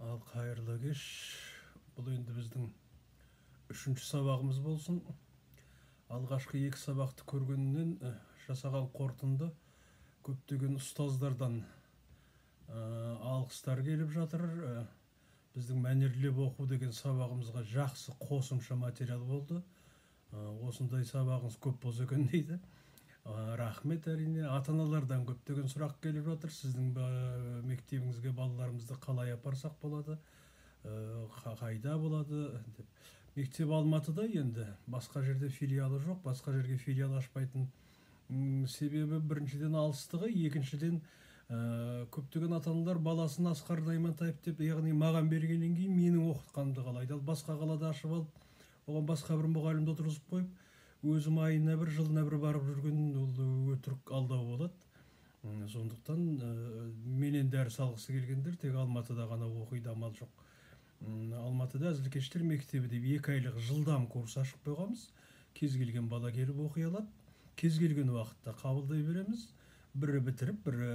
Ал қайырлы кеш. Бұл енді біздің үшінші сабағымыз болсын. Алғашқы екі сабақты көргеннен жасаған қорытынды көптеген ұстаздардан алғыстар келіп жатыр. Біздің мәнерлеп оқу деген сабағымызға жақсы қосымша материал болды. Осындай сабағыңыз көп болса екен дейді. Рахмет. Әрине ата-аналардан көптеген сұрақ келіп жатыр. Сіздің мектебіңізге балаларымызды қалай апарсақ болады, қайда болады деп. Мектеп Алматыда, енді басқа жерде филиалы жоқ. Басқа жерге филиал ашпайтын себебі біріншіден алыстығы, екіншіден көптеген ата-аналар баласын Асқар Наймантаев деп, яғни маған бергеннен кейін менің оқытқанымды қалайды. Ал басқа қалада ашып алып, оған басқа бір мұғалімді отырғызып қойып, өзім айына бір, жылына бір барып жүрген ол өтірік алдау болады. Сондықтан менен дәріс алғысы келгендер тек Алматыда ғана оқиды, амал жоқ. Алматыда Әзілкештер мектебі деп 2 айлық жылдам курс ашып қойғанбыз. Кез келген бала келіп оқи алады. Кез келген уақытта қабылдай береміз. Бірі бітіріп, бірі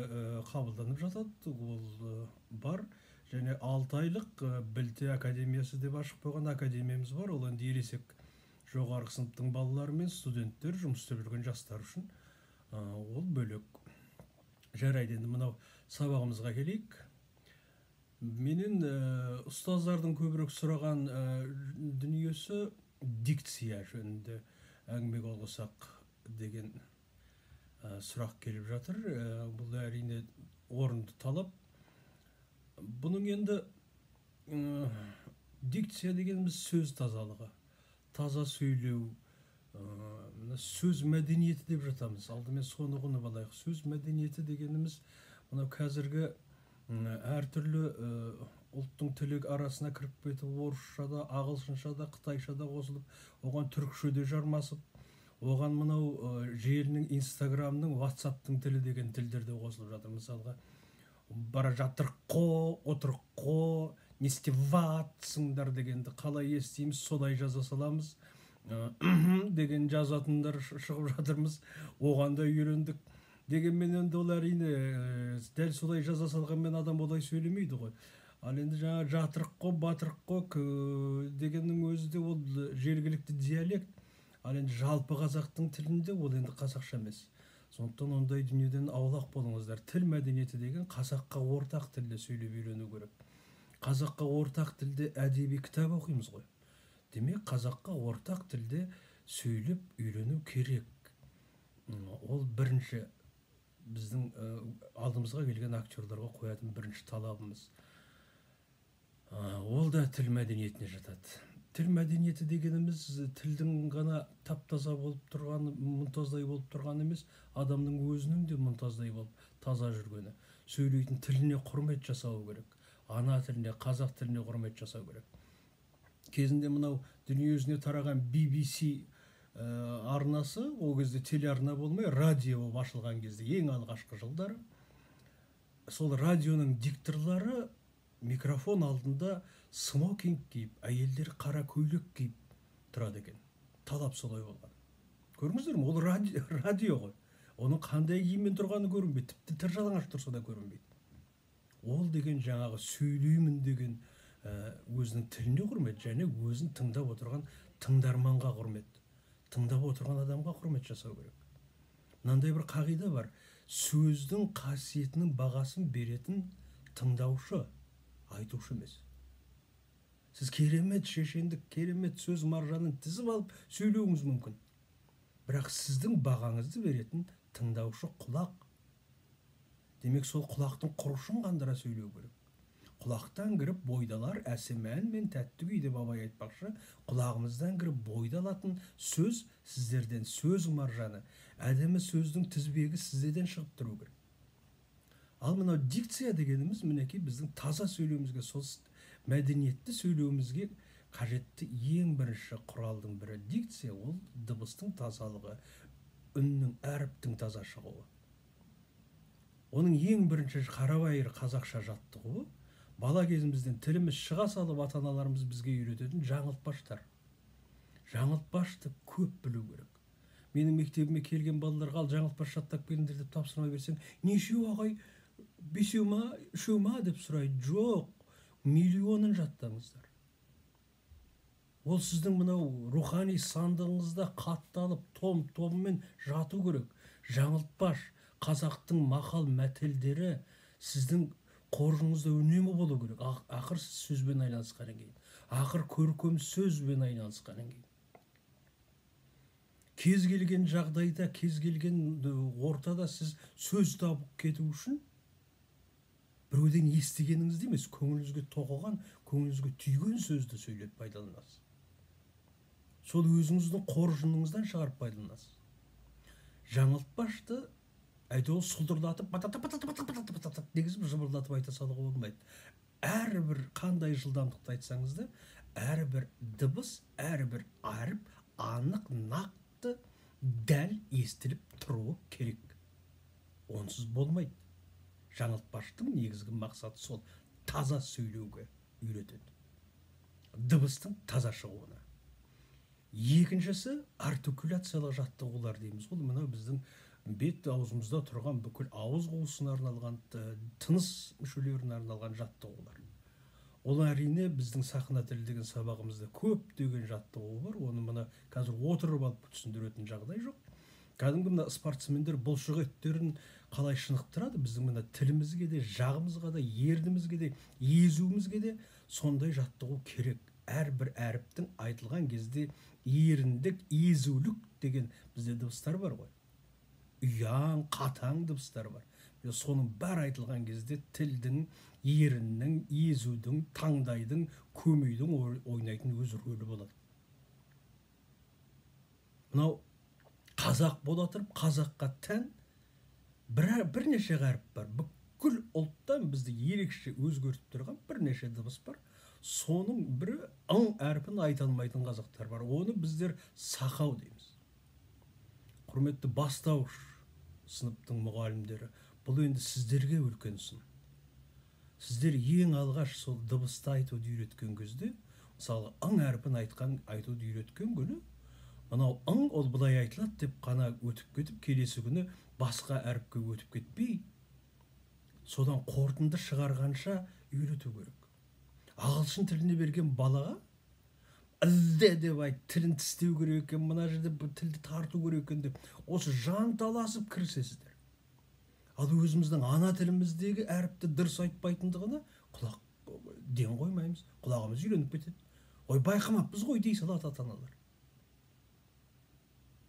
қабылданып жатады. Ол бар. Және 6 айлық Білте академиясы деп ашып қойған академиямыз бар. Ол енді ересек жоғарғы сыныптың балалары мен студенттер, жұмыс істеп жүрген жастар үшін ол бөлек. Жарайды, енді мынау сабағымызға келейік. Менен ұстаздардың көбірек сұраған дүниесі дикция жөнінде әңгіме қозғасақ деген сұрақ келіп жатыр. Бұл әрине орынды талап. Бұның енді дикция дегеніміз сөз тазалығы, таза сөйлеу, сөз мәдениеті деп жатамыз. Алдымен соны ұғынып алайық. Сөз мәдениеті дегеніміз мынау қазіргі әртүрлі ұлттың тілі арасына кіріп кетіп, орысшада, ағылшыншада, қытайшада қосылып, оған түркшеде жармасып, оған мынау желінің, инстаграмның, ватсаптың тілі деген тілдерде қосылып жатыр. Мысалға, бара жатыр қо, отыр қо, не істеватсыңдар дегенді қалай естиміз, солай жаза саламыз деген жазатындар шығып жатырмыз. Оған да үйрендік. Дегенмен енді ол әрине дәл солай жаза салғанмен адам олай сөйлемейді ғой. Ал енді жаңа жатырық қо, батырық қо дегеннің өзі де ол жергілікті диалект. Ал енді жалпы қазақтың тілінде ол енді қазақша емес. Сондықтан ондай дүниеден аулақ болыңыздар. Тіл мәдениеті деген қазаққа ортақ тілде сөйлеп үйрену керек. Қазаққа ортақ тілде әдеби кітап оқимыз ғой. Демек, қазаққа ортақ тілде сөйлеп үйрену керек. Ол бірінші біздің алдымызға келген актерларға қоятын бірінші талабымыз. Ол да тіл мәдениетіне жатады. Тіл мәдениеті дегеніміз тілдің ғана тап-таза болып тұрғаны, мұнтаздай болып тұрғаны емес, адамның өзінің де мұнтаздай болып таза жүргені. Сөйлейтін тіліне құрмет жасау керек. Ана тіліне, қазақ тіліне құрмет жасау керек. Кезінде мынау дүниежүзіне тараған BBC арнасы, ол кезде телеарна болмай, радио болып ашылған кезде, ең алғашқы жылдары, сол радионың дикторлары микрофон алдында смокинг киіп, әйелдер қара көйлек киіп тұрады екен. Талап солай болған. Көрдіңіздер ме? Ол радио ғой. Оның қандай киіммен тұрғаны көрінбейді. Тіпті тыр жалаңаш тұрса да көрінбейді. Ол деген жаңағы сөйлеймін деген өзінің тіліне құрмет, және өзін тыңдап отырған тыңдарманға құрмет. Тыңдап отырған адамға құрмет жасау керек. Мынандай бір қағида бар. Сөздің қасиетінің бағасын беретін тыңдаушы, айтушы емес. Сіз керемет шешендік, керемет сөз маржанын тізіп алып сөйлеуіңіз мүмкін. Бірақ сіздің бағаңызды беретін тыңдаушы құлақ. Демек, сол құлақтың құрышын қандыра сөйлеу керек. Құлақтан кіріп бойдалар әсемән мен тәтті күй деп абай айтпақшы, құлағымыздан кіріп бойдалатын сөз сіздерден, сөз маржаны, әдемі сөздің тізбегі сіздерден шығып тұру керек. Ал мынау дикция дегеніміз мінекей біздің таза сөйлеуімізге, сол мәдениетті сөйлеуімізге қажетті ең бірінші құралдың бірі. Дикция ол дыбыстың тазалығы, үннің, әріптің таза шығуы. Оның ең бірінші қарабайыр қазақша жаттығуы, бала кезімізден тіліміз шыға салып ата-аналарымыз бізге үйрететін жаңылтпаштар. Жаңылтпашты көп білу керек. Менің мектебіме келген балаларға ал жаңылтпаш жаттап келіңдер деп тапсырма берсең, нешеу ағай, бесеу ма, үшеу ма деп сұрайды. Жоқ, миллионын жаттаңыздар. Ол сіздің мынау рухани сандығыңызда қатталып, том-томмен жату керек. Жаңылтпаш, қазақтың мақал мәтелдері сіздің қоржыңызда үнемі болу керек. Ақыр сөзбен айналысқаннан кейін. Ақыр көркем сөзбен айналысқаннан кейін. Кез келген жағдайда, кез келген ортада сіз сөз табып кету үшін біреуден естігеніңізді емес, көңіліңізге тоқыған, көңіліңізге түйген сөзді сөйлеп пайдаланасыз. Сол өзіңіздің қоржыныңыздан шығарып пайдаланасыз. Жаңылтпашты әйтеуір сұлдырлатып, дегізіп жыбырлатып айта салуға болмайды. Әрбір қандай жылдамдықты айтсаңыз да, әрбір дыбыс, әрбір әріп анық, нақты, дәл естіліп тұруы керек. Онсыз болмайды. Жаңылтпаштың негізгі мақсаты сол, таза сөйлеуге үйретеді. Дыбыстың таза шығуына. Екіншісі артикуляциялық жаттығулар дейміз. Ол мынау біздің бет аузымызда тұрған бүкіл ауыз қуысына арналған, тыныс мүшелеріне арналған жаттығулар. Ол әрине біздің сахна тілі деген сабағымызда көптеген жаттығу бар. Оны мына қазір отырып алып түсіндіретін жағдай жоқ. Кәдімгі мына спортсмендер бұлшық еттерін қалай шынықтырады, біздің мына тілімізге де, жағымызға да, ернімізге де, езуімізге де сондай жаттығу керек. Әрбір әріптің айтылған кезде еріндік, езулік деген бізде дыбыстар бар ғой. Ұяң, қатаң дыбыстар бар. Соның бәрі айтылған кезде тілдің, еріннің, езудің, таңдайдың, көмейдің ойнайтын өз рөлі болады. Мынау қазақ бола тұрып, қазаққа тән бірнеше әріп бар. Бүкіл ұлттан бізді ерекше өзгертіп тұрған бірнеше дыбыс бар. Соның бірі ың әрпін айта алмайтын қазақтар бар. Оны біздер сақау дейміз. Құрметті бастауыш сыныптың мұғалімдері, бұл енді сіздерге үлкен сын. Сіздер ең алғаш сол дыбысты айтуды үйреткен кезде, мысалы ың әрпін айтуды үйреткен күні, мынау ың ол былай айтылады деп қана өтіп кетіп, келесі күні басқа әріпке өтіп кетпей, содан қорытынды шығарғанша үйрету керек. Ағылшын тіліне берген балаға ізде деп айт, тілін тістеу керек екен, мына жерде тілді тарту керек екен деп, осы жанталасып кірісесіздер. Ал өзіміздің ана тіліміздегі әріпті дұрыс айтпайтындығына құлақ ден қоймаймыз, құлағымыз үйреніп кетеді. Ой, байқамаппыз ғой дей салады ата-аналар.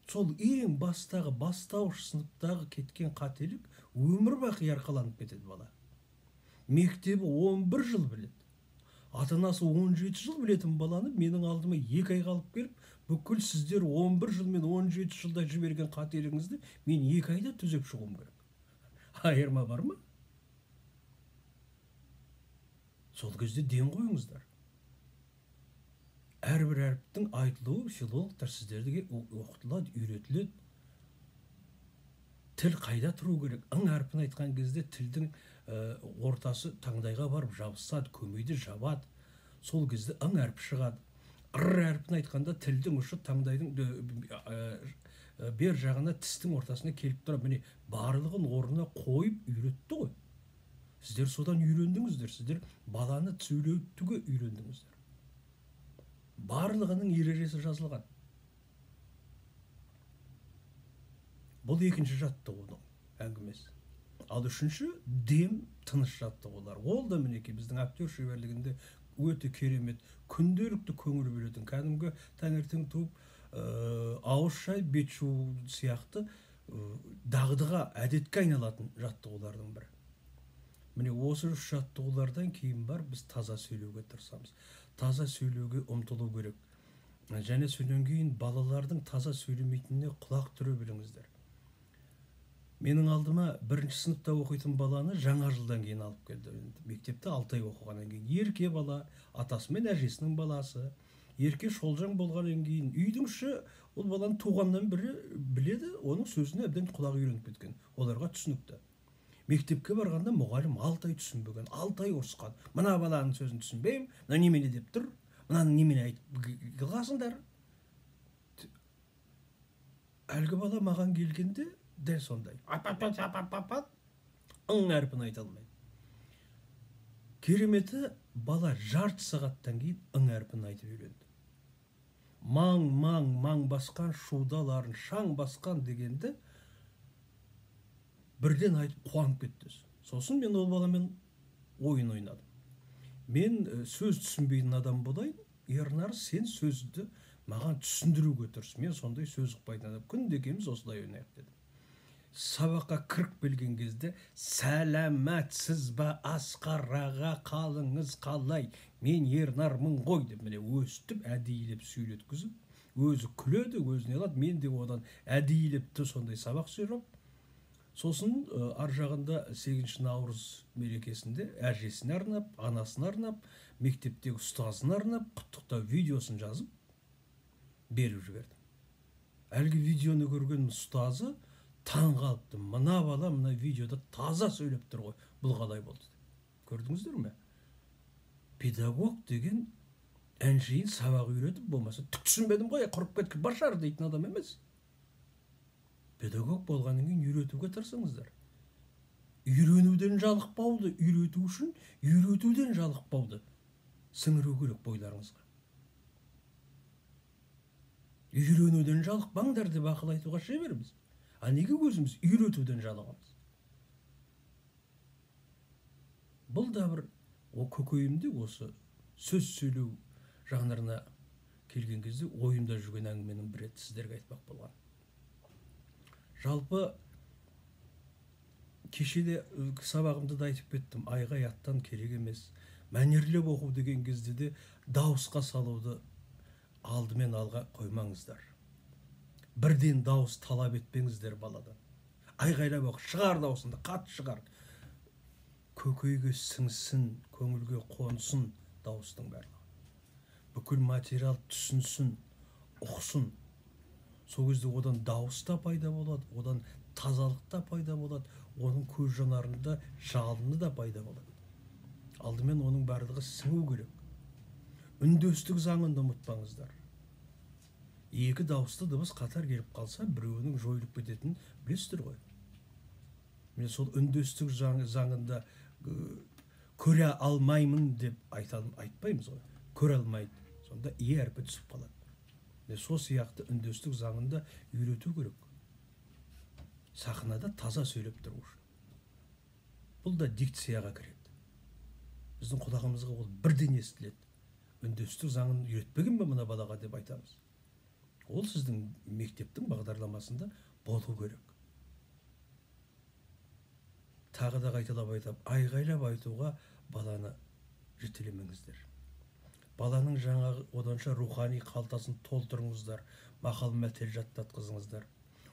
Сол ең бастағы, бастауыш сыныптағы кеткен қателік өмір бақи арқаланып кетеді бала. Мектебі 11 жыл біледі. Ата-анасы 17 жыл білетін баланы менің алдыма 2 айға алып келіп, бүкіл сіздер 11 жыл мен 17 жылда жіберген қателігіңізді мен 2 айда түзеп шығуым керек. Айырма бар ма? Сол кезде ден қойыңыздар. Әрбір әріптің айтылуы филологтар сіздерге оқытылады, үйретіледі. Тіл қайда тұру керек? Ың әрпін айтқан кезде тілдің ортасы таңдайға барып жабысады, көмейді жабады. Сол кезде ың әрпі шығады. Ыр әрпін айтқанда тілдің ұшы таңдайдың бер жағына, тістің ортасына келіп тұрады. Міне барлығын орнына қойып үйретті ғой. Сіздер содан үйрендіңіздер. Сіздер баланы сөйлетуге үйрендіңіздер. Барлығының ережесі жазылған. Бұл екінші жаттығудың әңгімесі. Ал үшінші дем, тыныш жаттығулар. Ол да мінекей біздің актер шеберлігінде өте керемет, күнделікті көңіл бөлетін, кәдімгі таңертең туып, ауыз шай, бет жуу сияқты дағдыға, әдетке айналатын жаттығулардың бірі. Міне осы үш жаттығулардан кейін бар біз таза сөйлеуге тырысамыз. Таза сөйлеуге ұмтылу керек. Және содан кейін балалардың таза сөйлемейтініне құлақ түре біліңіздер. Менің алдыма бірінші сыныпта оқитын баланы жаңа жылдан кейін алып келді. Мектепте 6 ай оқығаннан кейін. Ерке бала, атасы мен әжесінің баласы. Ерке шолжаң болғаннан кейін үйдің іші ол баланы туғаннан бірі біледі, оның сөзіне әбден құлағы үйреніп кеткен. Оларға түсінікті. Мектепке барғанда мұғалім 6 ай түсінбеген, 6 ай ұрысқан. Мына баланың сөзін түсінбеймін, мына немене деп тұр, мынаны немене айтып қылғасыңдар. Әлгі бала маған келгенде дәл сондай. Ың әрпін айта алмайды. Кереметі, бала жарты сағаттан кейін ың әрпін айтып үйренді. Маң, маң, маң басқан, шудаларын шаң басқан дегенді бірден айтып қуанып кетті. Сосын мен ол баламен ойын ойнадым. Мен сөз түсінбейтін адам болайын, Ернар, сен сөзді маған түсіндіруге тырыс. Мен сондай сөз ұқпайтын адам. Күнде екеуміз осылай ойнайық дедім. Сабаққа кіріп келген кезде, сәләмәтсіз ба Асқар аға, қалыңыз қалай, мен Ернармын ғой деп, міне өстіп әдейілеп сөйлеткізіп, өзі күледі, өзіне алады, мен де одан әдейілеп сондай сабақ сөйлеп. Сосын ар жағында 8 наурыз мерекесінде әжесіне арнап, анасына арнап, мектептегі ұстазына арнап, құттықтау видеосын жазып беріп жібердім. Әлгі видеоны көрген ұстазы таң қалыпты. Мына бала мына видеода таза сөйлеп тұр ғой, бұл қалай болды? Көрдіңіздер ме? Педагог деген әншейін сабақ үйретіп, болмаса түк түсінбедім ғой, құрып кеткен башар дейтін адам емес. Педагог болғаннан кейін үйретуге тырысыңыздар. Үйренуден жалықпауды, үйрету үшін үйретуден жалықпауды сіңіру керек бойларыңызға. Үйренуден жалықпаңдар деп ақыл айтуға шеберміз. А неге өзіміз үйретуден жалығамыз? Бұл да бір көкейімде осы сөз сөйлеу жанрына келген кезде ойымда жүрген әңгіменің бір рет сіздерге айтпақ болған. Жалпы кешеде сабағымда да айтып кеттім, айғай аттан керек емес. Мәнерлеп оқу деген кезде де дауысқа салуды алдымен алға қоймаңыздар. Бірден дауыс талап етпеңіздер баладан. Айғайлап оқы, шығар дауысында, қатты шығар. Көкейге сіңсін, көңілге қонсын дауыстың барлығы. Бүкіл материал түсінсін, ұқсын. Сол кезде одан дауыс та пайда болады, одан тазалық та пайда болады, оның көз жанарында жалыны да пайда болады. Алдымен оның барлығы сіңу керек. Үндестік заңын ұмытпаңыздар. Екі дауысты дыбыс қатар келіп қалса, біреуінің жойылып кететінін білесіздер ғой. Мен сол үндестік заңында көре алмаймын деп айтпаймыз ғой. Көре алмайды. Сонда е әрпі түсіп қалады. Сол сияқты үндестік заңында үйрету керек. Сахнада таза сөйлеп тұру үшін. Бұл да дикцияға кіреді. Біздің құлағымызға ол бірден естіледі. Үндестік заңын үйретпеген бе мына балаға деп айтамыз. Ол сіздің мектептің бағдарламасында болу керек. Тағы да қайталап айтам, айғайлап айтуға баланы жетелемеңіздер. Баланың жаңағы оданша рухани қалтасын толтырыңыздар, мақал мәтел жаттатқызыңыздар.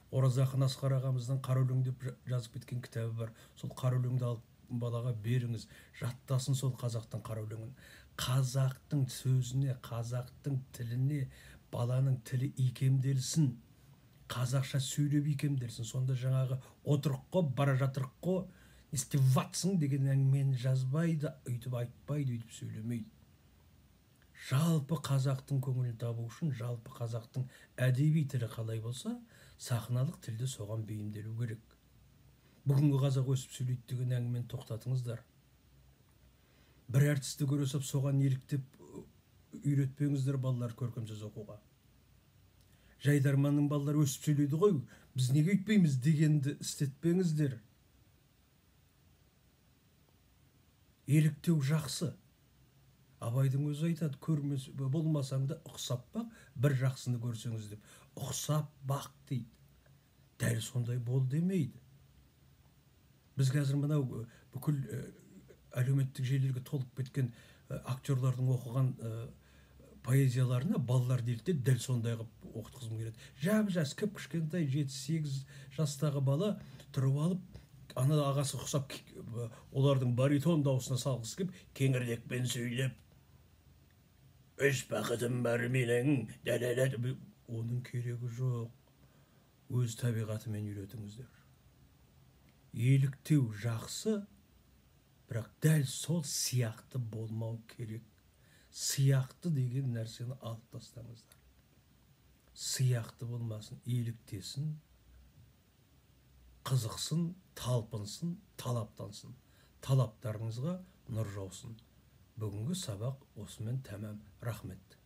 Ораза ақын Асқар ағамыздың Қара өлең деп жазып кеткен кітабы бар. Сол қара өлеңді алып балаға беріңіз, жаттасын сол қазақтың қара өлеңін. Қазақтың сөзіне, қазақтың тіліне баланың тілі икемделсін. Қазақша сөйлеп икемделсін. Сонда жаңағы отырық қо, бара жатырық қо, не істеп ватсың деген әңгімені жазбайды, үйтіп айтпайды, үйтіп сөйлемейді. Жалпы қазақтың көңілін табу үшін, жалпы қазақтың әдеби тілі қалай болса, сахналық тілді соған бейімделу керек. Бүгінгі қазақ өсіп сөйлейді деген әңгімені тоқтатыңыздар. Бір әртісті көресіп, соған еліктеп үйретпеңіздер балалар көркемсөз оқуға. Жайдарманның балалары өсіп сөйлейді ғой, біз неге өйтпейміз дегенді істетпеңіздер. Еліктеу жақсы. Абайдың өзі айтады, көрмес болмасаң да ұқсап бақ, бір жақсыны көрсеңіз деп. Ұқсап бақ дейді. Дәл сондай бол демейді. Біз қазір мынау бүкіл әлеуметтік желілерге толып кеткен актерлардың оқыған поэзияларына балалар делді, дәл сондай қылып оқытқызым келеді. Жап-жас, кіп-кішкентай 7-8 жастағы бала тұрып алып, ана ағасы ұқсап, олардың баритон дауысына салғысы келіп, кеңірдекпен сөйлеп, өз бақытым бар менің, дәлелет. Оның керегі жоқ. Өз табиғатымен үйретіңіздер. Еліктеу жақсы, бірақ дәл сол сияқты болмау керек. Сияқты деген нәрсені алып тастаңыздар. Сияқты болмасын, еліктесін, қызықсын, талпынсын, талаптансын. Талаптарыңызға нұр жаусын. Бүгінгі сабақ осымен тәмам. Рахмет.